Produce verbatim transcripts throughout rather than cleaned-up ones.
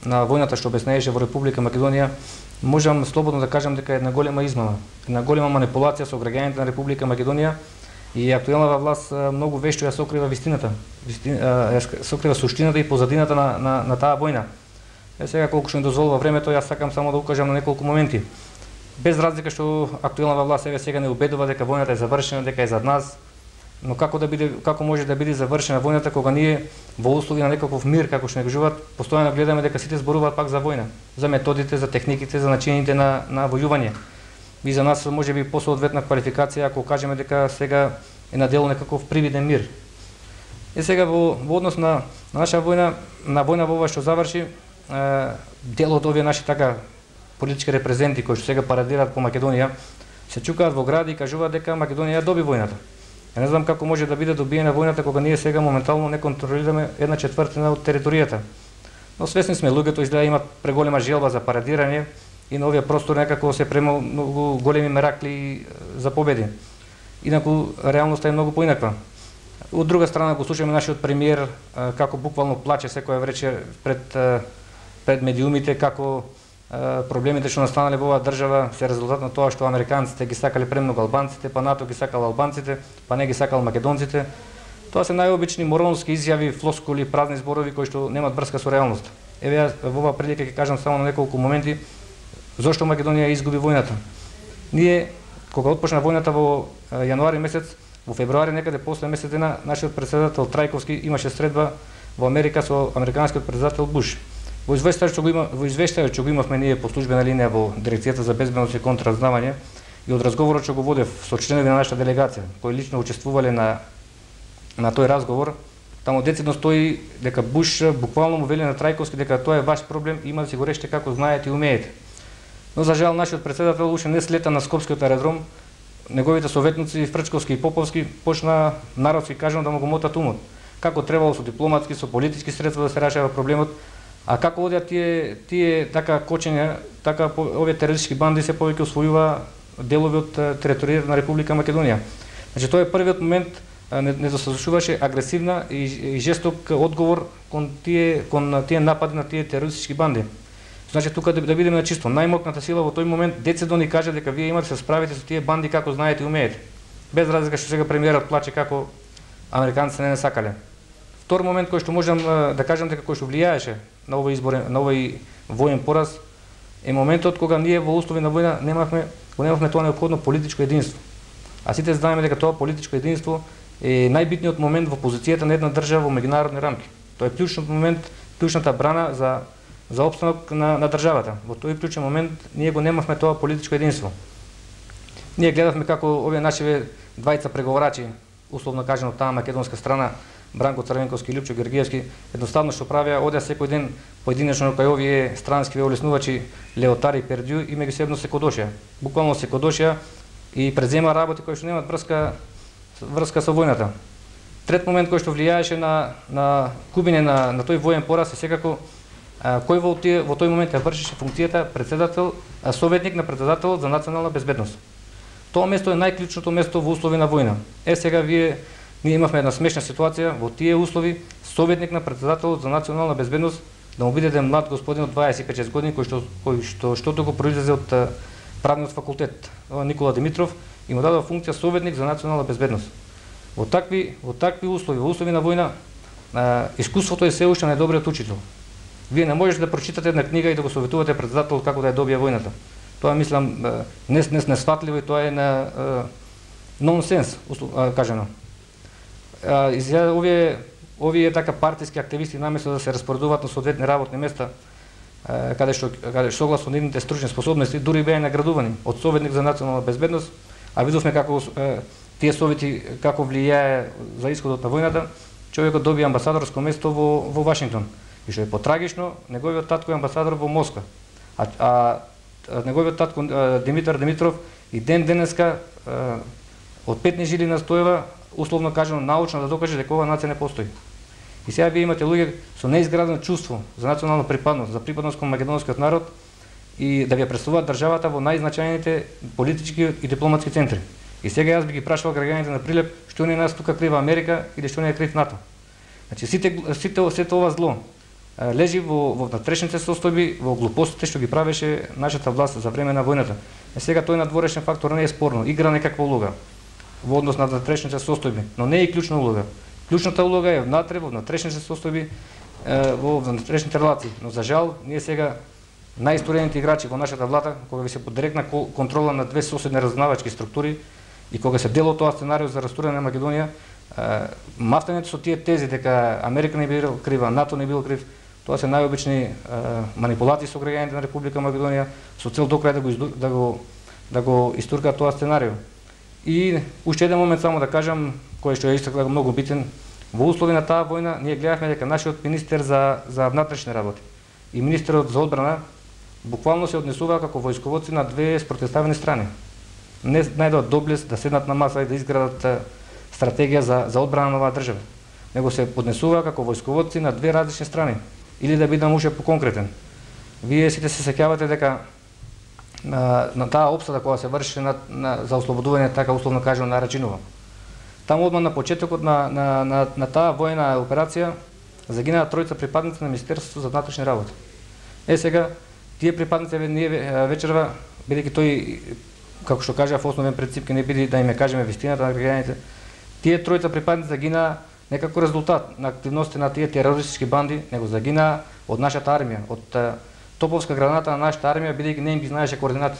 на војната што обяснееше во Република Македонија, можам слободно да кажам дека е една голема измама, една голема манипулација со граѓаните на Република Македонија и актуелната власт многу вешто ја сокрива вистината, ја сокрива суштината и позадината на, на, на таа војна. Е, сега колку што ми дозволува времето, јас сакам само да укажам на неколку моменти. Без разлика што актуелната власт сега сега не убедува дека војната е завршена, дека е зад нас, но како да биде, како може да биде завршена војната кога ние во услови на некаков мир, како што не кажуваат, постојано гледаме дека сите зборуваат пак за војна, за методите, за техниките, за начините на на војување. И за нас може би посоодветна квалификација ако кажеме дека сега е на дело некаков привиден мир. И сега во, во однос на, на наша војна, на војна во ова што заврши, е, дел од овие наши така политички репрезенти кои што сега парадираат по Македонија, се чукаат во гради и кажуваат дека Македонија доби војната. Ја не знам како може да биде добиена војната кога ние сега моментално не контролираме една четвртина од територијата. Но свесни сме, луѓето изгледа имат преголема желба за парадирање и на овие простори некако се према многу големи меракли за победи. Инаку реалноста е многу поинаква. Од друга страна го слушаме нашиот премиер како буквално плаче секоја вечер пред пред медиумите, како проблемите што настанале во оваа држава се резултат на тоа што американците ги сакале премногу албанците, па НАТО ги сакал албанците, па не ги сакал македонците. Тоа се најобични моронски изјави, флоскули, празни зборови кои што немаат врска со реалноста. Еве јас во оваа прилика ќе кажам само на неколку моменти зошто Македонија изгуби војната. Ние кога отпочна војната во јануари месец, во февруари некаде после месец дена нашиот претседател Трајковски имаше средба во Америка со американскиот претседател Буш. Во извештајот што го има, во извештајот што го имавме ние по службена линија во Дирекцијата за безбедност и контразнавање и од разговорот што го водев со членови на нашата делегација, кои лично учествувале на на тој разговор, таму децидно стои дека Буш буквално му вели на Трајковски дека тоа е ваш проблем, има да си го решите како знаете и умеете. Но за жал нашиот претседател уште не слета на Скопскиот аеродром, неговите советници Фрчковски и Поповски почна народски кажано да му го мотат умот. Како требало со дипломатски, со политички средства да се решава проблемот, а како одеа тие тие така кочења, така овие терористички банди се повеќе освојува делови од територијата на Република Македонија. Значи тоа е првиот момент, не, не заслужуваше агресивна и, и жесток одговор кон тие кон тие напади на тие терористички банди. Значи тука да, да бидеме на чисто, најмокната сила во тој момент децидно ни кажа дека вие имате да се справите со тие банди како знаете и умеете. Без разлика што сега премиерот плаче како американците не не сакале. Втор момент кој што можам да кажам дека кој што влијаеше на овој избор, на овој воен пораз е моментот кога ние во услови на војна немавме, немавме тоа неопходно политичко единство. А сите знаеме дека тоа политичко единство е најбитниот момент во позицијата на една држава во меѓународни рамки. Тоа е клучниот момент, клучната брана за за опстанок на, на државата. Во тој клучен момент ние го немавме тоа политичко единство. Ние гледавме како овие наши двајца преговарачи, условно кажано таа македонска страна, Бранко Црвенковски и Лјупчо Георгиевски, едноставно што правеа, одеа секој ден поединечно кај овие странски олеснувачи Леотари и Пердју и меѓусебно се кодошеа. Буквално се кодошеа и презема работи кои што немаат врска врска со војната. Трет момент кој што влијаеше на на губење на на тој воен пораз е секако а, кој во тие во тој момент ја вршеше функцијата председател, а, советник на председателот за национална безбедност. Тоа место е најклучното место во услови на војна. Е сега вие ние имавме една смешна ситуација во тие услови, советник на председателот за национална безбедност да му биде еден млад господин од дваесет и пет шест години кој што кој што штото го произлезе од правниот факултет, Никола Димитров, и му дадоа функција советник за национална безбедност. Во такви во такви услови, во услови на војна, а, искуството е се уште најдобриот учител. Вие не можете да прочитате една книга и да го советувате председателот како да ја добие војната. Тоа мислам не не несфатливо и тоа е на нонсенс, кажано. Изгледа овие овие така партиски активисти наместо да се распоредуваат на соодветни работни места каде што каде согласно нивните стручни способности дури беа наградувани од советник за национална безбедност, а видовме како тие совети како влијае за исходот на војната, човекот доби амбасадорско место во во Вашингтон. И што е потрагично, неговиот татко е амбасадор во Москва. А, а неговиот татко Димитар Димитров и ден денеска од петни жили настојува, условно кажано научно да докаже дека оваа нација не постои. И сега вие имате луѓе со неизградено чувство за национална припадност, за припадност кон македонскиот народ и да ви представуваат државата во најзначајните политички и дипломатски центри. И сега јас би ги прашал граѓаните на Прилеп што не нас тука крива Америка или што не е крив НАТО. Значи сите сите сето ова зло лежи во, во внатрешните состојби, во глупостите што ги правеше нашата власт за време на војната. Е сега тој надворешен фактор не е спорно, игра некаква улога во однос на внатрешните состојби, но не е и клучна улога. Клучната улога е внатре во внатрешните состојби, во внатрешните релации. Но за жал, ние сега најисторените играчи во нашата влада, кога ви се под директна контрола на две соседни разузнавачки структури и кога се дело тоа сценарио за растурање на Македонија, мафтањето со тие тези дека Америка не бил крива, НАТО не бил крив, тоа се најобични манипулации со граѓаните на Република Македонија со цел до крај да го да го да го истуркаат тоа сценарио. И уште еден момент само да кажам, кој што е исто многу битен, во услови на таа војна ние гледавме дека нашиот министер за за внатрешни работи и министерот за одбрана буквално се однесуваа како војсковоци на две спротивставени страни. Не најдоа доблес да седнат на маса и да изградат стратегија за за одбрана на оваа држава, него се поднесуваа како војсковоци на две различни страни. Или да бидам уште поконкретен. Вие сите се сеќавате дека на, на таа опсада која се врши на, на за ослободување, така условно кажано, на Рачинова. Таму одма на почетокот на на на, на таа војна операција загинаа тројца припадници на Министерството за внатрешни работи. Е сега тие припадници ние вечерва, бидејќи тој, како што кажа, во основен принцип ќе не биде да им кажеме вистината на граѓаните, тие тројца припадници загинаа не како резултат на активности на тие терористички банди, него загинаа од нашата армија, од топовска граната на нашата армија, бидејќи не им ги знаеше координати,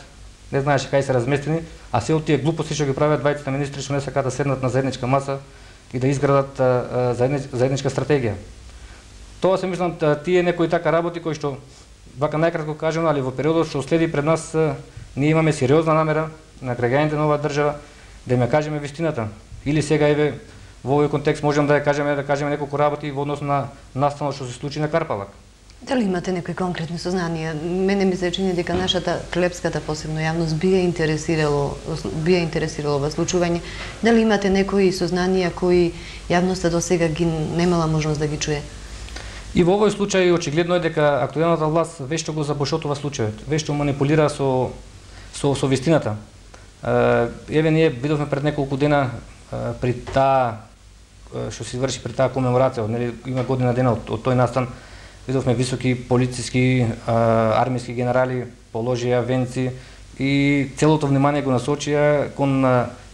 не знаеше кај се разместени, а се од тие глупости што ги прават двајцата министри што не сакаат да седнат на заедничка маса и да изградат заедничка стратегија. Тоа се мислам тие некои така работи кои што, вака најкратко кажано, али во периодот што следи пред нас, ние имаме сериозна намера на граѓаните на оваа држава да им кажеме вистината. Или сега еве во овој контекст можам да ја кажеме да кажеме неколку работи во однос на настанот што се случи на Карпалак. Дали имате некои конкретни сознанија? Мене ми се чини дека нашата клепската посебно јавност би ја интересирало, би ја интересирало ова случување. Дали имате некои сознанија кои јавноста до сега ги немала можност да ги чуе? И во овој случај очигледно е дека актуелната власт вешто го забошотува случајот, вешто манипулира со со со вистината. Еве ние видовме пред неколку дена при таа што се изврши при таа комеморација, нели има година дена од, од тој настан, видовме високи полициски, армиски генерали положија венци и целото внимание го насочија кон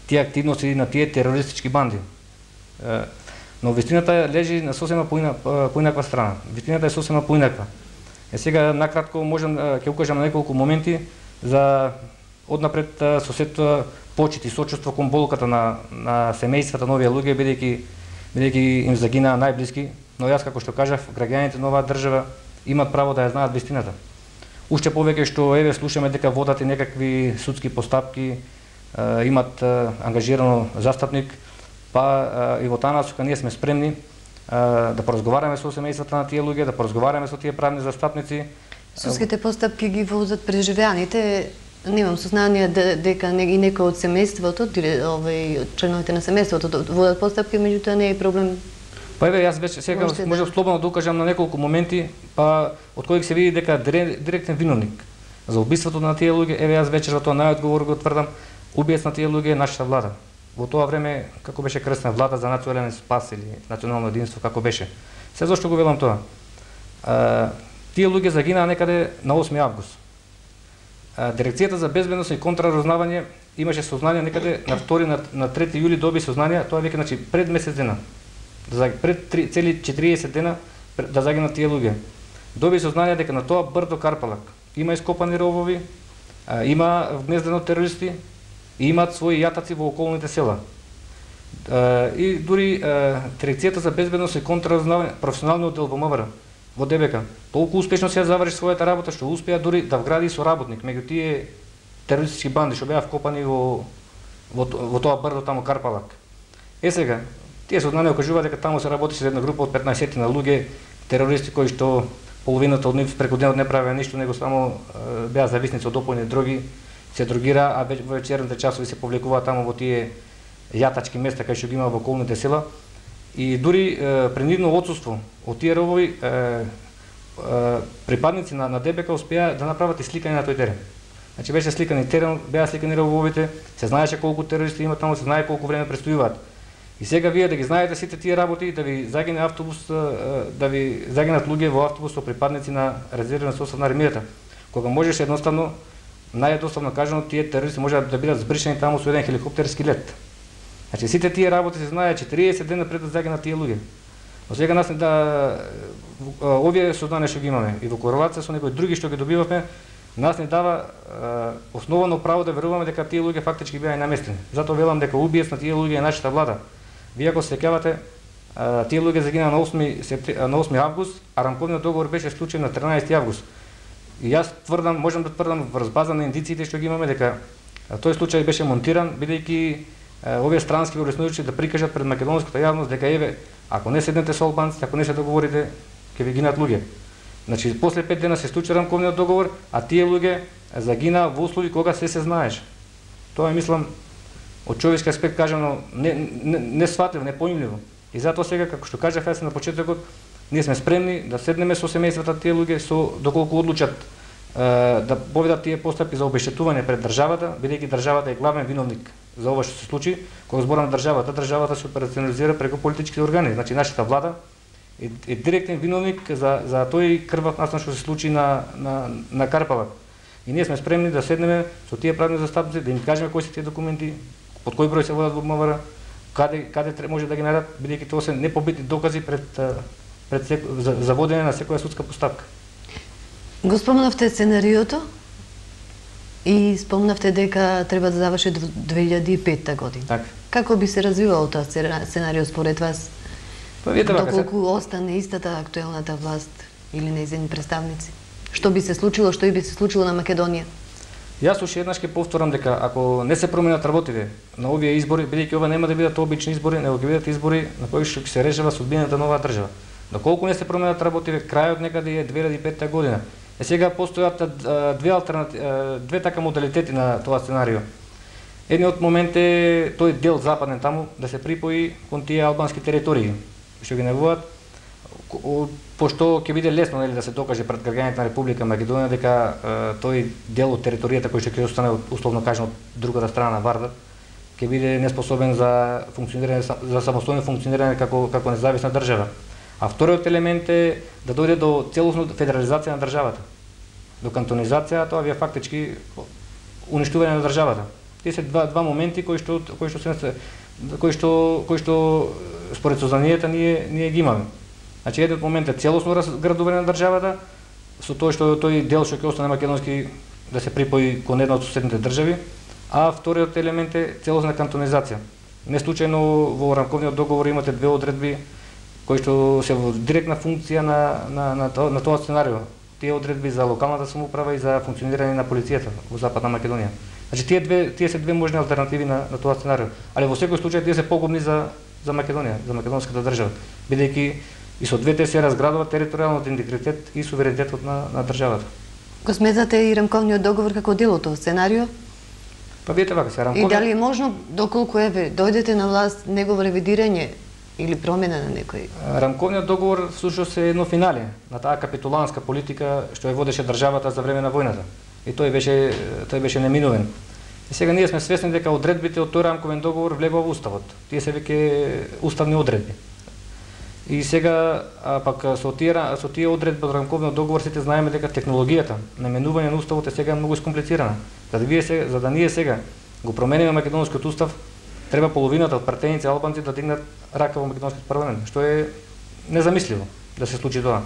тие активности на тие терористички банди. Но вистината лежи на сосема поинаква страна. Вистината е сосема поинаква. Е сега накратко можам ќе укажам на неколку моменти за однапред сосетство, почит и сочувство кон болката на на семејствата на овие луѓе, бидејќи бидејќи им загинаа најблиски, но јас како што кажав, граѓаните на оваа држава имат право да ја знаат вистината. Уште повеќе што еве слушаме дека водат и некакви судски постапки, е, имат е, ангажирано застапник, па е, и во таа насока ние сме спремни е, да поразговараме со семејствата на тие луѓе, да поразговараме со тие правни застапници. Судските постапки ги возат преживеаните. Немам сознание дека и некој од семејството, овој членовите на семејството водат постапки, меѓутоа не е проблем. Па еве јас веќе сега можам слободно да укажам на неколку моменти, па од кои се види дека директен виновник за убиството на тие луѓе, еве јас вечерва тоа најодговор го тврдам, убиец на тие луѓе е нашата влада. Во тоа време како беше крстена влада за национален спас или национално единство, како беше. Се зошто го велам тоа? А, тие луѓе загинаа некаде на осми август. Дирекцијата за безбедност и контраразузнавање имаше сознание некаде на втори на, на трети јули доби сознание, тоа веќе значи пред месец дена. Да пред три, цели четириесет дена да загинат тие луѓе. Доби сознание дека на тоа брдо Карпалак има ископани ровови, а, има вгнездено терористи и имаат своји јатаци во околните села. А, и дури а, Дирекцијата за безбедност и контраразузнавање, професионалниот оддел во МВР во ДБК толку успешно се ја заврши својата работа што успеа дури да вгради соработник меѓу тие терористички банди што беа вкопани во во, во тоа брдо таму Карпалак. Е сега, тие сознанија окажуваат дека таму се работеше за една група од петнаесет на луѓе терористи кои што половината од нив преку денот не правеа ништо, него само е, беа зависници од опојни дроги, се дрогира, а во вечерните часови се повлекуваат таму во тие јатачки места кај што ги има во околните села. И дури е, принудно отсуство од тие робови е, е, припадници на, на ДБК успеа да направат и сликање на тој терен. Значи беше сликани терен, беа сликани робовите, се знаеше колку терористи има таму, се знае колку време престојуваат. И сега вие да ги знаете сите тие работи, да ви загине автобус, да ви загинат луѓе во автобус со припадници на резервен состав на армијата. Кога можеш едноставно, наједноставно кажано, тие терористи можат да бидат збришени таму со еден хеликоптерски лет. Значи сите тие работи се знае четириесет дена пред да загинат тие луѓе. Но сега нас да овие сознание што ги имаме и во корелација со некои други што ги добивавме, нас не дава основано право да веруваме дека тие луѓе фактички беа наместени. Затоа велам дека убиец на тие луѓе е нашата влада. Вие ако се сеќавате, тие луѓе загинаа на осми на осми август, а рамковниот договор беше склучен на тринаесети август. И јас тврдам, можам да тврдам врз база на индициите што ги имаме дека тој случај беше монтиран бидејќи овие странски врснувачи да прикажат пред македонската јавност дека еве, ако не седнете со албанците, ако не се договорите, ќе ви гинат луѓе. Значи после пет дена се склучи рамковниот договор, а тие луѓе загинаа во услови кога се се знаеш. Тоа е, мислам, од човечки аспект кажано не не, не сватливо, непоимливо. И затоа сега, како што кажав јас на почетокот, ние сме спремни да седнеме со семејствата тие луѓе, со доколку одлучат е, да поведат тие постапки за обештетување пред државата, бидејќи државата е главен виновник за ова што се случи. Кога зборам државата, државата се операционализира преку политичките органи, значи нашата влада е, е директен виновник за за тој крвав настан што се случи на на на Карпалак. И ние сме спремни да седнеме со тие правни застапници, да им кажеме кои се тие документи, под кој број се водат во МВР, каде каде може да ги најдат, бидејќи тоа се непобитни докази пред пред сек, за, за водење на секоја судска постапка. Го спомнавте сценариото и спомнавте дека треба да заврши две илјади и петта година. Така. Како би се развивало тоа сценарио според вас? Па видите вака, доколку остане истата актуелната власт или нејзини представници? Што би се случило, што и би се случило на Македонија? Јас уште еднаш ќе повторам дека ако не се променат работите на овие избори, бидејќи ова нема да бидат обични избори, него ќе бидат избори на кои што ќе се решава судбината на оваа држава. Доколку не се променат работите, крајот некаде е две илјади и петта година. Е сега постојат две алтернативи, две така модалитети на тоа сценарио. Едниот момент е тој дел западен таму да се припои кон тие албански територии што ги најавуваат, пошто ќе биде лесно, нели, да се докаже пред граѓаните на Република Македонија дека е, тој дел од територијата кој што ќе остане условно кажано од другата страна на Вардар ќе биде неспособен за функционирање, за самостојно функционирање како како независна држава. А вториот елемент е да дојде до целосно федерализација на државата. До кантонизација, тоа вие фактички уништување на државата. Тие се два два моменти кои што кои што се кои што кои што според сознанието ние ние ги имаме. Значи едниот момент е целосно разградување на државата со тоа што тој дел што ќе остане македонски да се припои кон една од соседните држави, а вториот елемент е целосна кантонизација. Не случајно во рамковниот договор имате две одредби кои што се во директна функција на на на тоа, на тоа сценарио. Тие одредби за локалната самоуправа и за функционирање на полицијата во Западна Македонија. Значи тие две тие се две можни алтернативи на на тоа сценарио, али во секој случај тие се погубни за за Македонија, за македонската држава, бидејќи и со двете се разградува територијалниот интегритет и суверенитетот на на државата. Го сметате и рамковниот договор како дел од тоа сценарио? Па видите вака, се рамковниот... И дали е можно доколку еве дојдете на власт негово ревидирање или промена на некој? Рамковниот договор всушност е едно финале на таа капитуланска политика што ја водеше државата за време на војната. И тој беше тој беше неминувен. И сега ние сме свесни дека одредбите од тој рамковен договор влегува во уставот. Тие се веќе уставни одредби. И сега а, пак со тие со тие одредби од рамковниот договор сите знаеме дека технологијата на менување на уставот е сега многу искомплицирана. За да вие сега, за да ние сега го промениме македонскиот устав, треба половината од пратеници албанци да дигнат рака во македонскиот парламент, што е незамисливо да се случи тоа.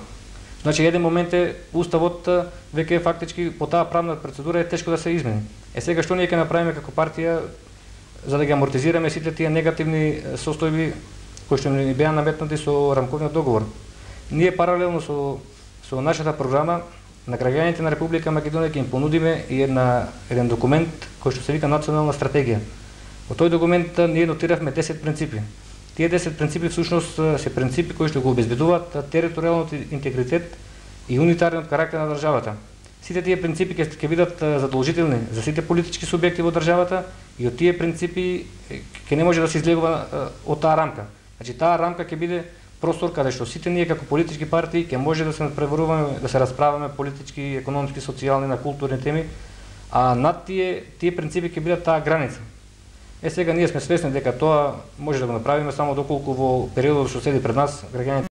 Значи еден момент е уставот веќе фактички по таа правна процедура е тешко да се измени. Е сега што ние ќе направиме како партија за да ги амортизираме сите тие негативни состојби кои што ни беа наметнати со рамковниот договор. Ние паралелно со со нашата програма на граѓаните на Република Македонија ќе им понудиме и една еден документ кој што се вика национална стратегија. Во тој документ ние нотиравме десет принципи. Тие десет принципи всушност се принципи кои што го обезбедуваат територијалниот интегритет и унитарниот карактер на државата. Сите тие принципи ќе ќе бидат задолжителни за сите политички субјекти во државата и од тие принципи ќе не може да се излегува од таа рамка. Значи таа рамка ќе биде простор каде што сите ние како политички партии ќе може да се надпреваруваме, да се расправаме политички, економски, социјални, на културни теми, а над тие тие принципи ќе бидат таа граница. Е сега ние сме свесни дека тоа може да го направиме само доколку во периодот што седи пред нас граѓаните